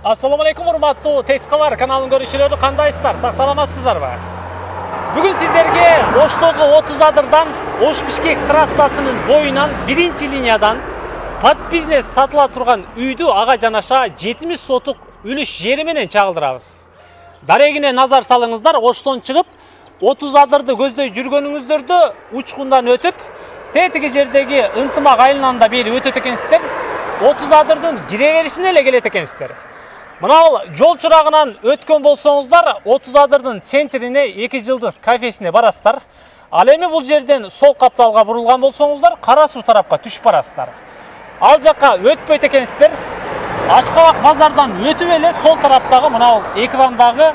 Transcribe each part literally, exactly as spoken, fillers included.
Assalamu alaikum урматтуу Текст кабар каналынын көрүүчүлөрү, кандайсыздар? Сак саламатсыздарбы? Бүгүн сиздерге Оштогу отуз адырдан Ош Бишкек трассасынын боюнан биринчи линиядан под бизнес сатыла турган үйдү ага жанаша жетимиш сотук үлүш жери менен чагылдырабыз. Дарегине назар салыңыздар, Оштон чыгып отуз адырды көздөй жүргөнүңүздөрдө учкундан өтүп, тетиги жердеги ынтымак айылынан да бери өтөт экенсиздер. отуз адырдын кире беришине эле келет экенсиздер. Мына жол чурагынан өткөн болсоңуздар, отуз адырдын центрине эки жылдыз кафесине барасыздар. Ал эми бул жерден сол капталга бурулган болсоңуздар, Кара суу тарапка түшүп барасыздар. Ал жакка өтпөйт экенсиздер. Ашкабак базардан өтүп эле сол тараптагы мына экрандагы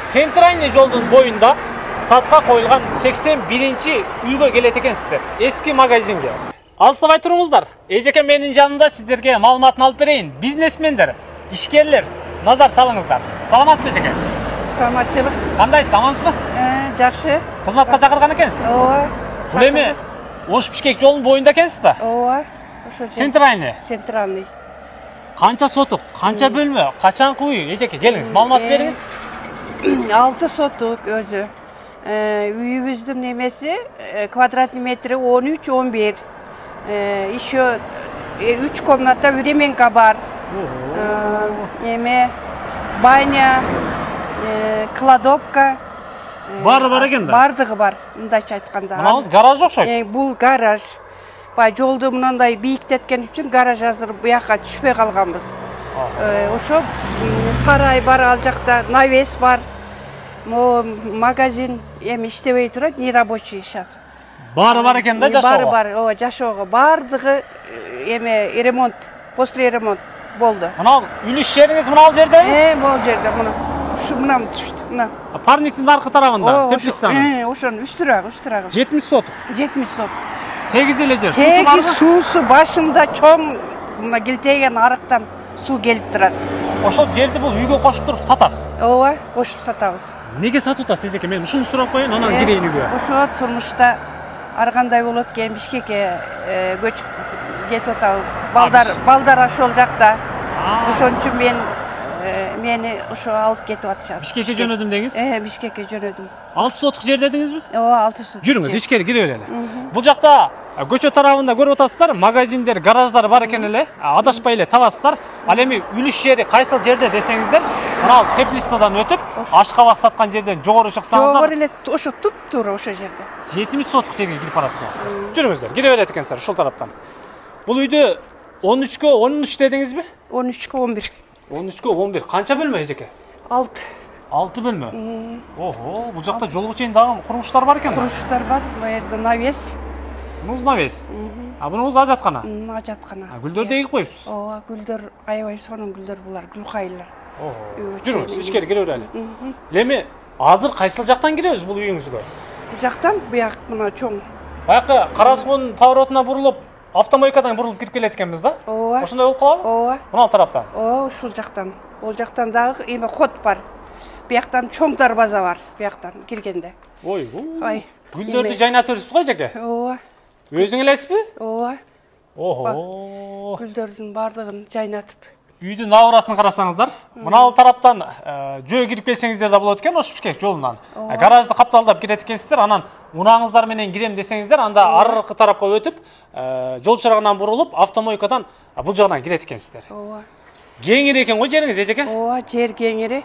центральный жолдун боюнда сатка коюлган сексен биринчи үйгө келет экенсиздер. Эски магазинге. Алыстабай туруңуздар. Эжеке менин жанымда сиздерге маалыматын алып берейин. Бизнесмендер, ишкерлер, назар салыңыздар. Саламатсызбы эжеке? Саламатчылык. Кандайсыз, амансызбы? Э, жакшы. Кызматка чакырган экенсиз? Ооба. Бул эми Ош Бишкек жолунун боюнда экенсиз да? Ооба. Ошо Центральный. Центральный. Канча сотук, канча бөлмө, качанкы үй? Эжеке, келиңиз, маалымат бериңиз. алты сотук өзү. Э, үйүбүздүн немеси квадратный метри он үч он бир. Э, еще үч комната, временка бар. Неме, баня, кладовка. Бары бар экен да? Бардыгы бар, мындайча айтканда. Мынабыз гараж окшойт. Бул гараж. Бай жолду мындай бийиктеткен үчүн гараж азыр буяка түшпөй калганбыз. Ошо сарай бар, ал жакта навес бар. Мо магазин эми иштебей турат, нерабочий сейчас. Бары бар экен да жашоого? Бары бар, ооба, жашоого. Бардыгы эме ремонт, после ремонт болду. Мына үлүш жериңиз мына жердеби? Э, бул жерде мына. Ушу мына түштү, мына. Парниктин аркы тарабында, теплицанын. Э, ошонун үч турагы, үч турагы. жетимиш сотук. жетимиш сотук. Тегиз эле жер. Теги суусу башында чоң, мына килтеген арыктан суу келип турат. Ошол жерди бул үйгө кошуп туруп сатасыз? Ооба, кошуп сатабыз. Неге сатып атасыз эжеке? Мен ушуну сурап коеюн, анан кирейин үйгө. Ошо турмушта ар кандай болот экен, Бишкекке көчүп кетип атабыз. Балдар, балдар ошол жакта. Ошон үчүн мен мени ошо алып кетип атышат. Бишкекке жөнөдүм деңиз? Э, Бишкекке жөнөдүм. алты сотук жер дедиңизби? Ооба, алты сотук. Жүрүңүз, ичкери кире берели. Бул жакта көчө тарабында көрүп атасыздар, магазиндер, гараждар бар экен эле. Адашпай эле табасыздар. Ал эми үлүш жери кайсыл жерде десеңиздер, мына теплицадан өтүп, ашкабак саткан жерден жогору чыксаңыздар. Жогору эле ошо туп-туура ошо жерде. жетимиш сотук жерге кирип барат экенсиздер. Жүрүңүздөр, кире берет экенсиздер ушул тараптан. Бул үйдү он үчкө он үч дедиңизби? он үчкө он бир. он үчкө он бир. Канча бөлмө эжеке? алты. алты бөлмө. Ого, бул жакта жолго чейин дагы курулуштар бар экен да? Курулуштар бар, бу жерде навес. Мунуз навес. А бунуз ажаткана? Ажаткана. Гүлдөрдү эгип коюпсуз? Ооба, гүлдөр аябай сонун гүлдөр булар, гүлкайырлар. Ого. Жүрүңүз, ичкери кире берели. Эми азыр кайсыл жактан киребиз бул үйүңүзгө? Бул жактан буяк мына чоң. Баякы Кара суунун поворотуна бурулуп, автомойкадан бурулуп кирип келет экенбиз да? Ооба. Ошондой болуп калабы? Ооба. Мына тараптан. Ооба, ушул жактан. Бул жактан дагы эме ход бар. Бияктан чоң дарбаза бар, бияктан киргенде. Ой, ой. Гүлдөрдү жайнатып жүрсүз го эжеке? Ооба. Өзүң элесизби? Ооба. Ого. Гүлдөрдүн бардыгын жайнатып. Үйдүн набырасын карасаңыздар, мына ал тараптан жөө кирип келсеңиздер да болот экен, Ош Бишкек жолунан. Гаражды капталдап кирет экенсиздер, анан унааңыздар менен кирем десеңиздер, анда аркы тарапка өтүп, жол чырагынан бурулуп, автомойкадан бул жагынан кирет экенсиздер. Ооба. Кеңири экен го жериңиз эжеке? Ооба, жер кеңири.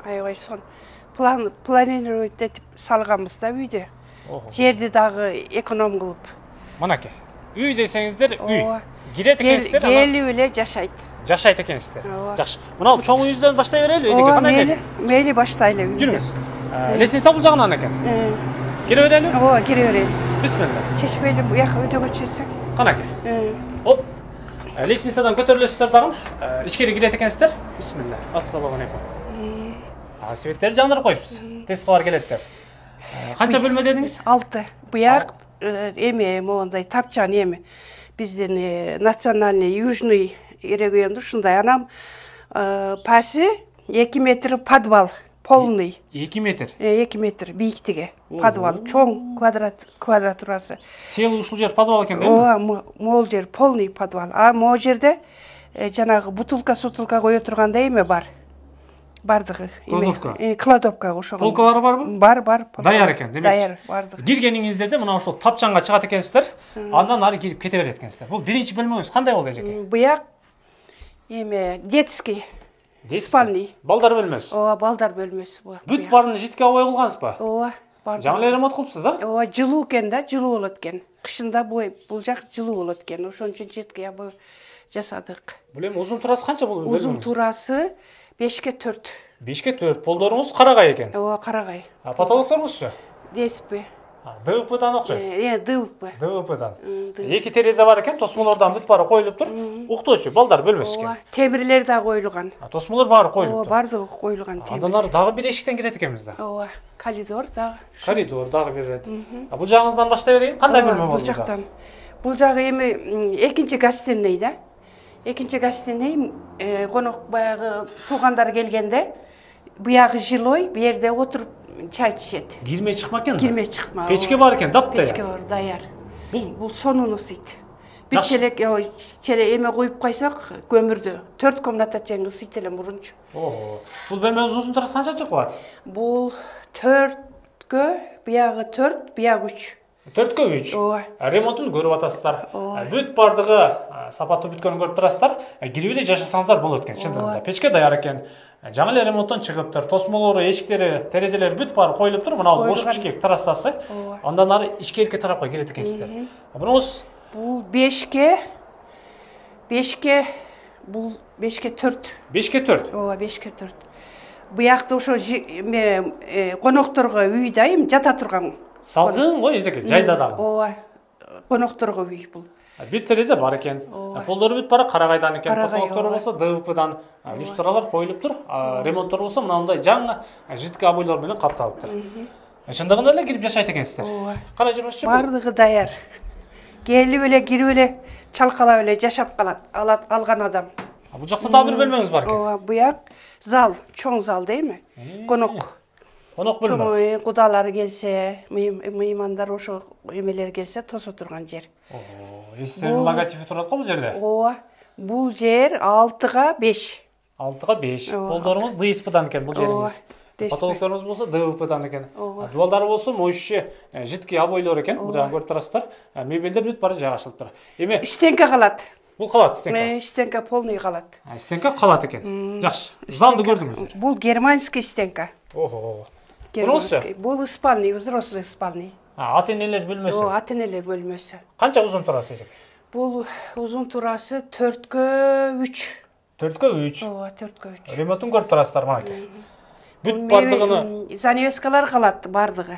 Аябай сон. План планировать этип салганбыз да үйдү. Жерди дагы эконом кылып. Мынакей. Үй десеңиздер, үй. Кирет экенсиздер, анан келип эле жашайт. Жашайт экенсиздер. Жакшы. Мына чоң үйүздөн баштай берели, эжеке, кандай эледиңиз? Мейли баштайлы. Жүрүңүз. Лестница бул жагынан экен. Кире берели? Ооба, кире берели. Бисмилла. Чечпейли буяка өтөгө чечсек. Канакей. Оп. Лестницадан көтөрүлөсүздөр дагы. Ичкери кирет экенсиздер. Бисмилла. Ассаламу алейкум. А светтерди жандырып коюпсуз. Тез кабар келет деп. Канча бөлмө дедиңиз? алты. Буяк эме моундай тапчан эме. Биздин национальный южный регионду ушундай. Анан паси эки метр подвал. Полный. эки метр. эки метр бийиктиги. Подвал чоң квадрат квадратурасы. Сел ушул жер подвал экен да? Ооба, могул жер полный подвал. А могул жерде жанагы бутылка сутулка кое тургандай эме бар. Бардыгы. Кладовка. Кладовка ошого. Полкалары барбы? Бар, бар. Даяр экен, демекчи. Даяр, бардыгы. Киргениңиздерде мына ушул тапчанга чыгат экенсиздер, андан ары кирип кете берет экенсиздер. Бул биринчи бөлмөңүз кандай болду эжеке? Буяк эме детский. Спальный. Балдар бөлмөсү. Ооба, балдар бөлмөсү бу. Бүт барын житке абай кылгансызбы? Ооба, бар. Жаңы эле ремонт кылыпсыз, а? Ооба, жылуу экен да, жылуу болот экен. Кышында бул бул жак жылуу болот экен. Ошон үчүн житке абай жасадык. Бул эми узун турасы канча бул? Узун турасы бешке төрт. бешке төрт. Полдоруңуз карагай экен. Ооба, карагай. А потолокторуңузчу? ДСП. ДВПдан окшойт. Э, ДВП. ДВПдан. Эки терезе бар экен, тосмолордон бүт баары коюлуп тур. Уктоочу балдар бөлмөсү экен. Ооба, темирлер да коюлган. Тосмолор баары коюлуп Ооба, тур. бардыгы коюлган темир. Андан ары дагы бир эшиктен кирет экенбиз да. Ооба, коридор дагы. Коридор дагы бир рет. А бул жагыңыздан баштай берейин. Кандай бөлмө болду? Бул жактан. Бул жагы эми экинчи гостиный да. Экинчи гостиный конок баягы туугандар келгенде буягы жилой, бу жерде отуруп чай ичишет. Кирме чыкма экен. Кирме чыкма. Печке бар экен, дапта. Печке бар, даяр. Бул Бул сонун ысыйт. Бир челек челе эме коюп койсок, көмүрдү төрт комната тең ысыйт эле мурунчу. Ого. Бул бөлмөнүз узун турасы канча чыккылат? Бул төрткө, буягы төрт, буягы үч. төрткө үч. Ооба. Ремонтун көрүп атасыздар. Бүт бардыгы сапаттуу бүткөнүн көрүп турасыздар. Кирип эле жашасаңыздар болот экен, чындыгында. Печке даяр экен. Жаңы эле ремонттон чыгыптыр. Тосмолору, эшиктери, терезелери бүт баары коюлуп тур. Мына ош бишкек террасасы. Андан ары ичкерки тарапка кирет экенсиздер. Буруңуз Бул бешке, бешке, бул бешке төрт. бешке төрт. Ооба, бешке төрт. Буякта ошо эме конокторго үй да эми жата турган. Салгын го эжеке, жайда дагы. Ооба, конокторго үй бул. Бир терезе бар экен. Полдору бүт баары карагайдан экен. Карагай, Потолоктору болсо ДВПдан. Люстралар коюлуп тур. Ремонттор болсо мындай жаңы житке абойлор менен капталыптыр. Чындыгында эле кирип жашайт экенсиздер. Кандай жүрүңүзчү? Бардыгы даяр. Келип эле кирип эле чалкалап эле жашап калат, алат алган адам. Бул жакта дагы бир бөлмөңүз бар экен. Ооба, буяк зал, чоң зал дейми? Конок. Конок бөлмө. Чоң кудалар келсе, меймандар ошо эмелер келсе тосо турган жер. Ого, эстердин логотипи турат го бул жерде. Ооба. Бул жер алтыга беш. алтыга беш. Полдоруңуз ДСПдан экен бул жериңиз. Потолокторуңуз болсо ДВПдан экен. Дубалдары болсо моющий жидкий обойлор экен. Бул жагын көрүп турасыздар. Мебелдер бүт баары жайгашылып тур. Эми Стенка калат. бул калат стенка. Стенка полный калат. Стенка калат экен. Жакшы. Залды көрдүңүздөр. Бул германский стенка. Ого. Германский. Бул спальный, взрослый спальный. А, ата-энелер бөлмөсү. Ооба, ата-энелер бөлмөсү. Канча узун турасы эжек? Бул узун турасы төрткө үч. төрткө үч. Ооба, төрткө үч. Ремонтун көрүп турасыздар мынакей. Бүт бардыгыны занавескалар калат бардыгы.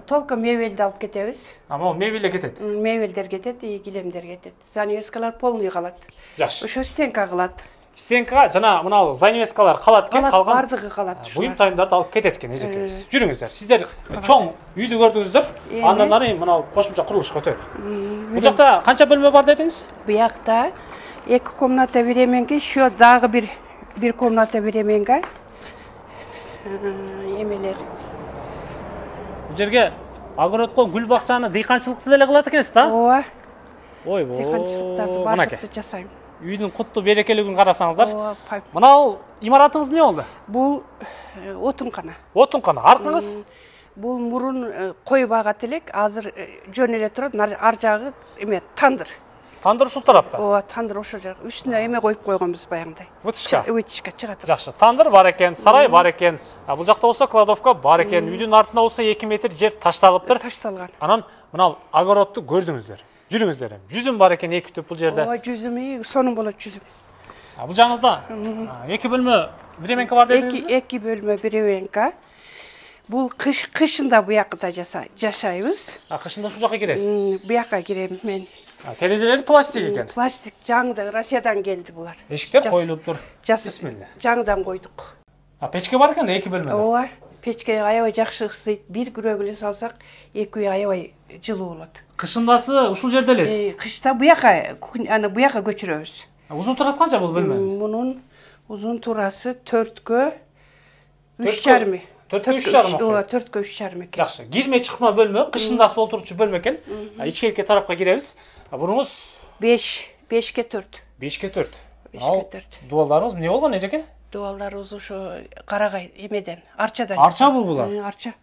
Толко мебелди алып кетебиз. А, могу мебелдер кетет. Мебелдер кетет, и килемдер кетет. Занавескалар полный калат. Жакшы. Ошо стенка калат. Стенка жана мына занавескалар калат экен, калган бардыгы калат. буюм тайымдарды алып кетет экен эжекебиз. Жүрүңүздөр. Сиздер чоң үйдү көрдүңүздөр. Андан ары мына кошумча курулушка өтөлү. Бул жакта канча бөлмө бар дедиңиз? Буякта эки комната беременге, еще дагы бир бир комната беременге. Эмелер. Бул жерге огородко гүл бакчаны дыйканчылыкты деле кылат экенсиз да? Ооба. Ойбой. Дыйканчылыктарды бардыкты жасайм. Үйдүн кутту берекелигин карасаңыздар. Ооба. Мына имаратыңыз эмне болду? Бул отункана. Отункана. Артыңыз? Бул мурун кой багат элек, азыр жөн эле турат. Ар жагы эме тандыр. Тандыр ушул тарапта. Ооба, тандыр ошол жак. Үстүнө эме коюп койгонбуз баягындай. Вытышка. Вытышка чыга турат. Жакшы. Тандыр бар экен, сарай бар экен. Бул жакта болсо кладовка бар экен. Үйдүн артында болсо эки метр жер ташталыптыр. Ташталган. Анан мына огородду көрдүңүздөр. Жүрүңүздөр эми. Жүзүм бар экен эки түп бул жерде. Ооба, жүзүм сонун болот жүзүм. Бул жагыңызда эки бөлмө временка бар дедиңизби? Эки эки бөлмө временка. Бул кыш кышында буякта жашайбыз. А кышында ушул жака киресиз? Буякка кирем мен. Терезелери пластик экен. Пластик жаңды Россиядан келди булар. Эшиктер коюлуп тур. Бисмилла. Жаңдан койдук. А печке бар экен да эки бөлмө. Ооба. Печке аябай жакшы ысыйт. Бир күрөгүлү салсак, эки үй аябай жылуу болот. Кышындасы ушул жерде элесиз? Кышта буякка, аны буякка көчүрөбүз. Узун турасы канча бул бөлмө? Мунун узун турасы төрткө үч жарым. төрткө үч жарым. Ооба, төрткө үч жарым экен. Жакшы. Кирме чыкма бөлмө, кышындасы олтурчу бөлмө экен. Ичкерки тарапка киребиз. Буруңуз беш, бешке төрт. бешке төрт. бешикке төрт. Дубалдарыңыз эмне болгон эжеке? Дубалдарыбыз ошо карагай эмеден, арчадан. Арча бул булар? Арча.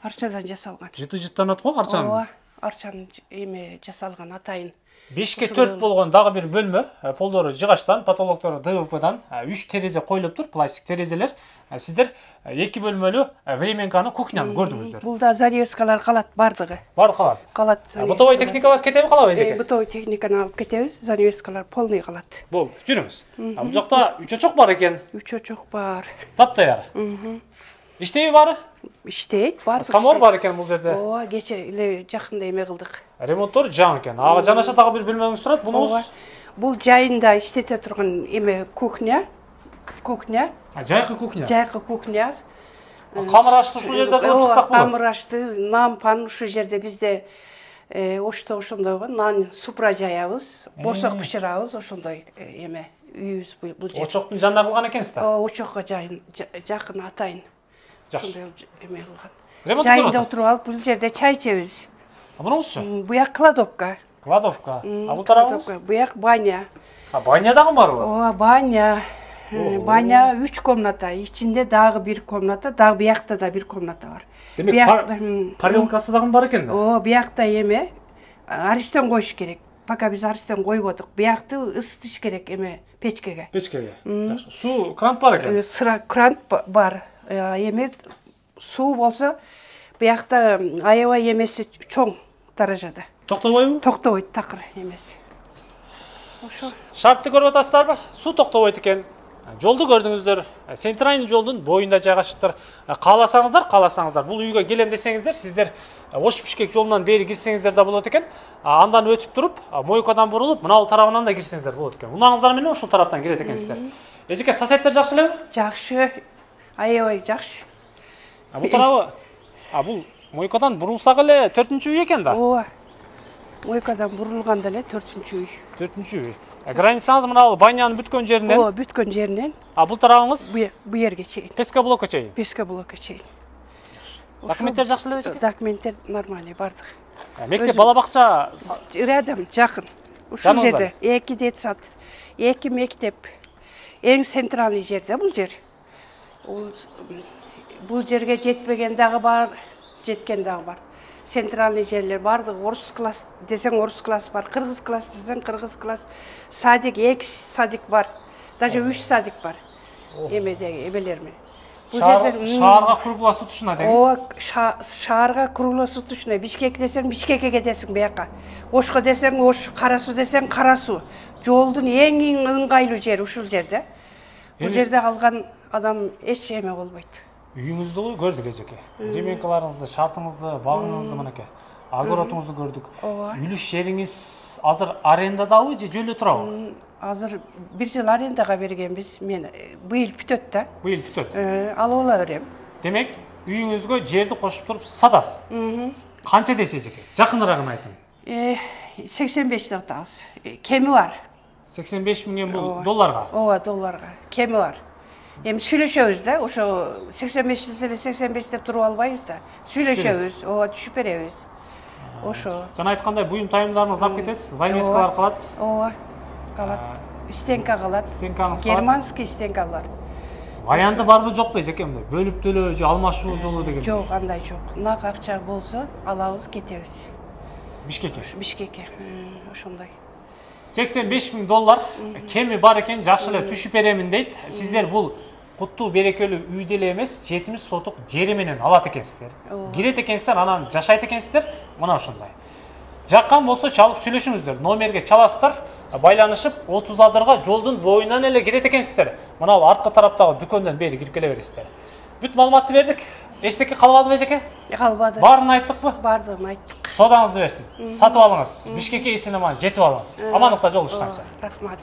Арчадан жасалган. Жыты-жыттанат го арчанын. Ооба, арчанын эме жасалган атайын. бешке төрт болгон дагы бир бөлмө, полдору жыгачтан, потолоктору дэ вэ пэдан, үч терезе коюлуп тур, пластик терезелер. Сиздер эки бөлмөлүү временканы, кухняны көрдүңүздөр. Бул да занавескалар калат бардыгы. Бар калат. Калат. Бытовой техникалар кетеби калабы эжеке? Бытовой техниканы алып кетебиз, занавескалар полный калат. Болду, жүрүңүз. Бул жакта үч очок бар экен. Үч очок бар. Таптаяр. Иштеби бары? Иштейт, бар. Самор бар экен бул жерде. Ооба, кече эле жакында эме кылдык. Ремонттор жаңы экен. Ага жанаша дагы бир бөлмөңүз турат. Бунуңуз бул жайында иштете турган эме кухня. Кухня. Жайкы кухня. Жайкы кухня. Камыр ашты ушул жерде кылып чыксак болот. Камыр ашты, нан пан ушул жерде бизде ошто ошондой го, нан супра жаябыз, борсок бышырабыз, ошондой эме үйүбүз бул жер. Очоктун жанында кылган экенсиз да? Очокко жакын атайын. Жакшы. Эме кылган. Ремонт жайында отуруп алып бул жерде чай ичебиз. Бунуңузчу? Буяк кладовка. Кладовка. А бул тарабыңыз? Буяк баня. А баня дагы барбы? Ооба, баня. Баня үч комната, ичинде дагы бир комната, дагы буякта да бир комната бар. Демек, парилкасы дагы бар экен да? Ооба, буякта эме аристен коюш керек. Пока биз аристен койбодук. Буякты ысытыш керек эме печкеге. Печкеге. Жакшы. Суу крант бар экен? Сыра крант бар. Эме суу болсо буякта аябай эмеси чоң даражада. Токтобойбу? Токтобойт, такыр эмеси. Ошо. Шартты көрүп атасыздарбы? Суу токтобойт экен. Жолду көрдүңүздөр. Центральный жолдун боюнда жайгашыптыр. Кааласаңыздар, кааласаңыздар, бул үйгө келем десеңиздер, сиздер Ош-Бишкек жолунан бери кирсеңиздер да болот экен. Андан өтүп туруп, Мойкадан бурулуп, мына бул тарабынан да кирсеңиздер болот экен. Унааңыздар менен ушул тараптан кирет экенсиздер. Эжеке, соседтер жакшы элеби? Жакшы. Аябай жакшы. А бул тарабы, а бул Мойкадан бурулсак эле төртүнчү үй экен да? Ооба. Мойкадан бурулганда эле төртүнчү үй. төртүнчү үй. Границаңыз мына бул банянын бүткөн жеринен? Ооба, бүткөн жеринен. А бул тарабыңыз? Бу жерге чейин. Песка блокко чейин. Песка блокко чейин. Документтер жакшы элеби эжеке? Документтер нормальный бардык. Мектеп, бала бакча рядом, жакын. Ушул жерде эки детсад, эки мектеп. Эң центральный жерде бул жер. Бул жерге жетпеген дагы бар, жеткен дагы бар. Центральный жерлер бардык, орус класс десең орус класс бар, кыргыз класс десең кыргыз класс, садик, эки садик бар, даже үч садик бар. Эмедеги эбелер менен. Шаарга круглосуточно деңиз? Ооба, шаарга круглосуточно. Бишкек десең Бишкекке кетесиң бияка. Ошко десең Ош, Кара Суу десең Кара Суу. Жолдун эң ыңгайлуу жери ушул жерде. Бул жерде калган адам эч эме болбойт. Үйүңүздү көрдүк эжеке. Ременкаларыңызды, шартыңызды, багыңызды мынакей. Огородуңузду көрдүк. Үлүш жериңиз азыр арендадабы же жөлдө турабы? Азыр бир жыл арендага бергенбиз. Мен быйыл бүтөт да. Быйыл бүтөт. Алып ала берем. Демек, үйүңүзгө жерди кошуп туруп сатасыз. Канча десе эжеке? Жакыныраагын айтың. сексен беш деп атабыз. Кеми бар. сексен беш миңден бул долларга? Ооба, долларга. Кеми бар. Эми сүйлөшөбүз да, ошо сексен беш десе сексен беш деп туруп албайбыз да. Сүйлөшөбүз, ооба, түшүп беребиз. Ошо. Жана айткандай, буюм тайымдарыңызды алып кетесиз, занавескалар калат. Ооба, калат. Стенка калат. Стенкаңыз калат. Германский стенкалар. Варианты барбы жокпу эжеке мындай? Бөлүп төлөө же алмашуу жолу деген? Жок, андай жок. Нак акча болсо, алабыз, кетебиз. Бишкекке? Бишкекке. Ошондой. сексен беш миң доллар кеми бар экен, жакшы эле түшүп беремин дейт. Сиздер бул куттуу берекелүү үйдө эле эмес, жетимиш сотук жери менен алат экенсиздер. Кирет экенсиздер, анан жашайт экенсиздер. Мына ошондой. Жаккан болсо чалып сүйлөшүңүздөр. Номерге чаласыздар, байланышып отуз адырга жолдун боюнан эле кирет экенсиздер. Мына бул арткы тараптагы дүкөндөн бери кирип келе бересиздер. Бүт маалыматты бердик. Эчтеке калбадыбы эжеке? Калбады. Баарын айттыкпы? Баардыгын айттык. Содаңызды берсин. Сатып алыңыз. Бишкекке исинеман жетип алыңыз. Амандыкта жолугушканча. Рахмат.